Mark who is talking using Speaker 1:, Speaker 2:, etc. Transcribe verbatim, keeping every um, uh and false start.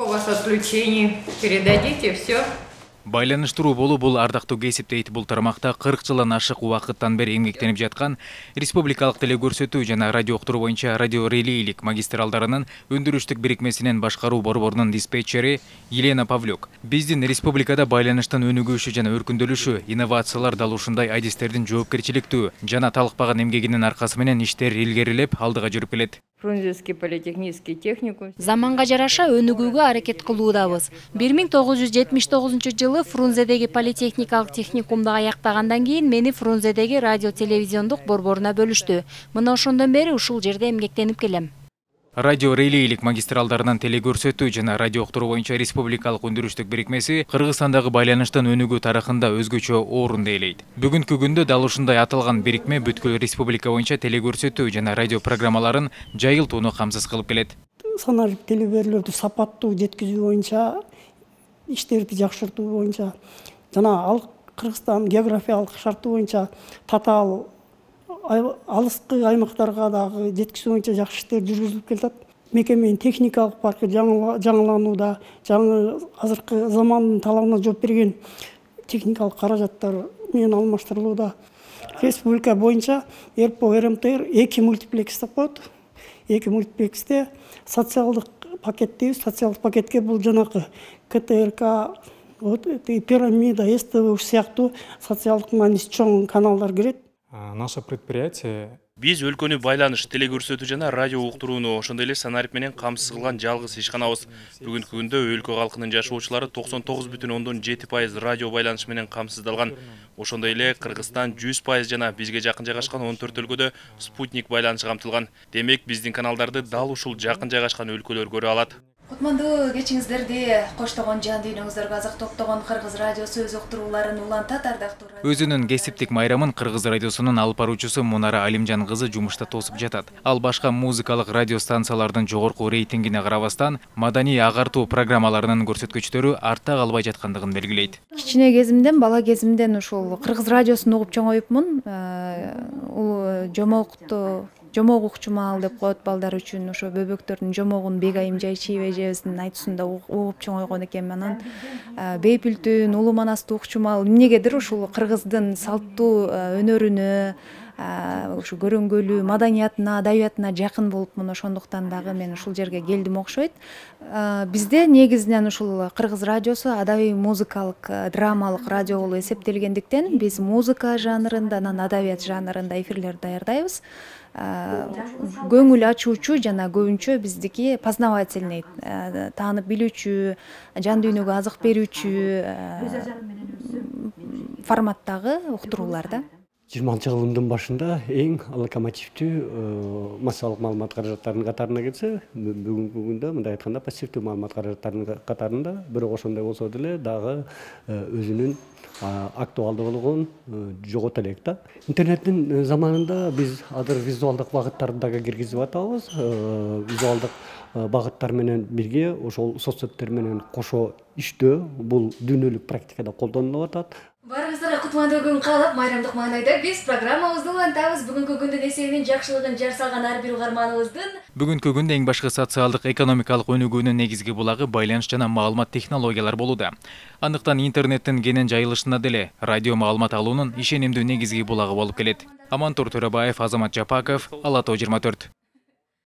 Speaker 1: у вас отключений? Передадите все.
Speaker 2: Байланыштыруу болуу бул ардактуу кесип дейт. Бул тармакта кырк жылдан ашык убакыттан бери эмгектенип жаткан республикалык телекөрсөтүү жана радио уктуруу боюнча радиорелейлик магистралдарынын өндүрүштүк бирикмесинин башкаруу борборунун диспетчери Елена Павлюк. Биздин республикада байланыштын өнүгүшү жана өркүндөлүшү, инновациялар дал ушундай адистердин жоопкерчиликтүү жана талыкпаган эмгегинин аркасы менен иштер илгерилеп алдыга жүрүп келет.
Speaker 1: Фрунзенский политехнический техникум.
Speaker 3: Заманга жараша өнүгүүгө аракет кылуудабыз. бир миң тогуз жүз жетимиш тогузунчу жылы Фрунзедеги политехникалык техникумду аяктагандан кийин мени Фрунзедеги радио телевизиондук борборуна бөлүштү. Мына ошондон бери ушул жерде эмгектенип келем.
Speaker 2: Радио релейлик магистралдарынын телекөрсөтүү жана радио уктуруу боюнча республикалык өндүрүштүк бирикмеси Кыргызстандагы байланыштын өнүгүү тарыхында өзгөчө орунду ээлейт. Бүгүнкү күндө дал ушундай аталган бирикме бүткүл республика боюнча телекөрсөтүү жана радио программаларын жайылтууну камсыз кылып келет.
Speaker 4: Санарип телеберүүлөрдү сапаттуу жеткизүү боюнча, иштерди жакшыртуу боюнча жана ал Кыргызстан географиялык шарты боюнча татаал алыскы аймактарга дагы жеткизүү боюнча жакшы иштер жүргүзүлүп келатат. Мекеменин техникалык паркы жаңыланууда, жаңы азыркы замандын талабына жооп берген техникалык каражаттар менен алмаштырылууда. Республика боюнча РПО РМТР эки мультиплекстеп коет. Эки мультиплексте социалдык пакеттебиз. Социалдык пакетке бул жанакы КТРК, Пирамида, СТВ сыяктуу социалдык мааниси чоң каналдар кирет.
Speaker 5: Наше предприятие
Speaker 6: Биз өлкөнү байланыш, телекөрсөтүү жана радио уктурууну, ошондой эле санарип менен камсыз кылган жалгыз ишканабыз. Бүгүнкү күндө өлкө калкынын жашоочулары токсон тогуз бүтүн ондон жети пайыз радио байланыш менен камсыздалган. Ошондой эле Кыргызстан жүз пайыз жана бизге жакын жайгашкан он төрт өлкөдө спутник байланышы камтылган. Демек, биздин каналдарды дал ушул жакын жайгашкан өлкөлөр көрө алат.
Speaker 7: Кутмандуу кечиңиздерди коштогон жан дүйнөңүздөргө азык топтогон Кыргыз радиосу өз уктурууларын улантат, ардактуу.
Speaker 2: Өзүнүн кесиптик майрамын Кыргыз радиосунун алып баруучусу Мунара Алимжан кызы жумушта тосуп жатат. Ал башка музыкалык радио станциялардын жогорку рейтингине карабастан, маданий агартуу программаларынын көрсөткүчтөрү артта калбай жаткандыгын белгилейт.
Speaker 7: Кичине кезимден, бала кезимден ушул Кыргыз радиосун угуп чоңоюпмун. Ул жомокту жомок укчумал деп коет балдар үчүн, ошо бөбөктөрдүн жомогун Бегайым Жайчиева эжебиздин айтуусунда угуп чоңойгон экенмин. Анан Бейпүлтүн, Улуу Манастуу укчумал эмнегедир ушул кыргыздын салттуу өнөрүнө, ушу көрөнгөлүү маданиятына, адабиятына жакын болупмун. Ошондуктан дагы мен ушул жерге келдим окшойт. Бизде негизинен ушул Кыргыз радиосу адабий музыкалык, драмалык радио болуп эсептелгендиктен биз музыка жанрында, анан адабият жанрында эфирлер даярдайбыз. Көңүл ачуучу жана көбүнчө биздики познавательный, таанып билүүчү, жан дүйнөгө азык берүүчү форматтагы уктурууларда.
Speaker 8: жыйырманчы жылдын башында эң локомотивдүү массалык маалымат каражаттарынын катарына кирсе, бүгүнкү күндө мындай айтканда пассивдүү маалымат каражаттарынын катарында, бирок ошондой болсо деле дагы өзүнүн актуалдуулугун жогото элек да. Интернеттин заманында биз азыр визуалдык багыттарды дагы киргизип атабыз. Визуалдык багыттар менен бирге ошол соцсеттер менен кошо иштөө бул дүйнөлүк практикада колдонулуп атат.
Speaker 7: Баарыңыздарга кутмандуу күн каалап, майрамдык маанайда биз программабызды улантабыз. Бүгүнкү күндүн эсебинин жакшылыгын жар салган ар бир угарманыбыздын
Speaker 2: Бүгүнкү күндө эң башкы социалдык экономикалык өнүгүүнүн негизги булагы байланыш жана маалымат технологиялар болууда. Андыктан интернеттин кенен жайылышында деле радио маалымат алуунун ишенимдүү негизги булагы болуп келет. Амантур Төрөбаев, Азамат Жапаков, Ала Тоо жыйырма төрт.